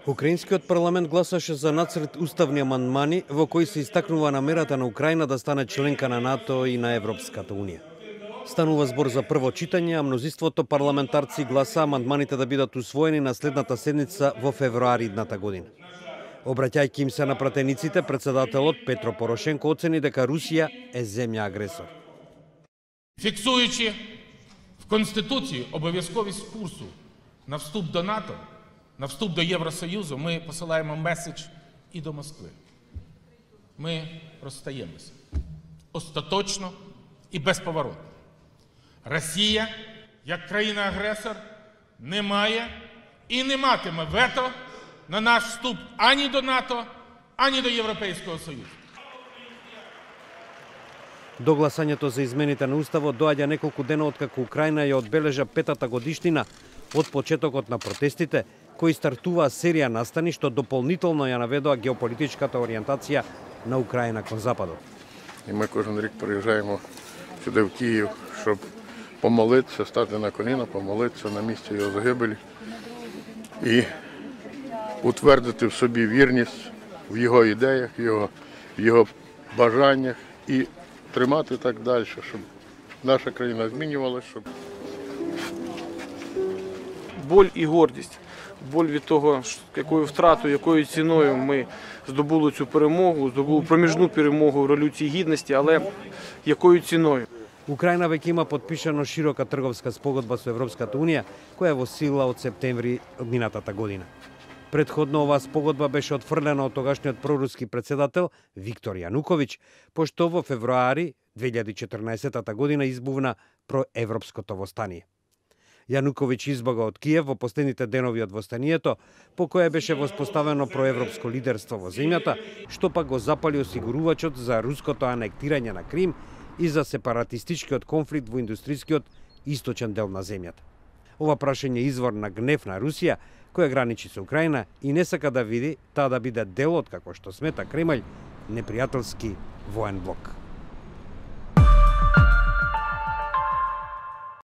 Украинскиот парламент гласаше за нацрт уставни амандмани во кои се истакнува намерата на Украина да стане членка на НАТО и на Европската унија. Станува збор за прво читање, а мнозинството парламентарци гласа амандманите да бидат усвоени на следната седница во февруари идната година. Обраќајќи им се на пратениците, председателот Петро Порошенко оцени дека Русија е земја агресор. Фіксуючи в Конституції обов'язковість курсу на вступ до НАТО, на вступ до Євросоюзу, ми посилаємо меседж і до Москви. Ми розстаємося остаточно і безповоротно. Росія, як країна-агресор, не має і не матиме вето на наш вступ ані до НАТО, ані до Європейського Союзу. До гласањето за измените на Уставот доаѓа неколку дена откако Украина ја одбележа 5-та годишнина од почетокот на протестите, кои стартуваа серија настани што дополнително ја наведоа геополитичката ориентација на Украина кон Западот. І ми кожен рік приїжджаємо сюди в Київ, щоб помолитися, стати на коліна, помолитися на місці його загибелі і утвердити в собі вірність в його ідеях, в його бажаннях і тримати так далі, щоб наша країна змінювалася, щоб... Боль і гордість. Боль від того, якою втратою, якою ціною ми здобули цю перемогу, здобули проміжну перемогу в Революції Гідності, але якою ціною. Украина веќе има подпишано широка трговска спогодба со Европската унија, која е во сила од септември од минатата година. Предходно оваа спогодба беше отфрлена од тогашниот проруски председател Виктор Јануковиќ, пошто во февруари 2014 година избувна проевропското востание. Јануковиќ избога од Киев во последните денови од востанието, по кое беше воспоставено проевропско лидерство во земјата, што пак го запали осигурувачот за руското анектирање на Крим и за сепаратистичкиот конфликт во индустрискиот источен дел на земјата. Ова прашање е извор на гнев на Русија, која граничи со Украина и не сака да види таа да биде дел од, како што смета Кремљ, непријателски воен блок.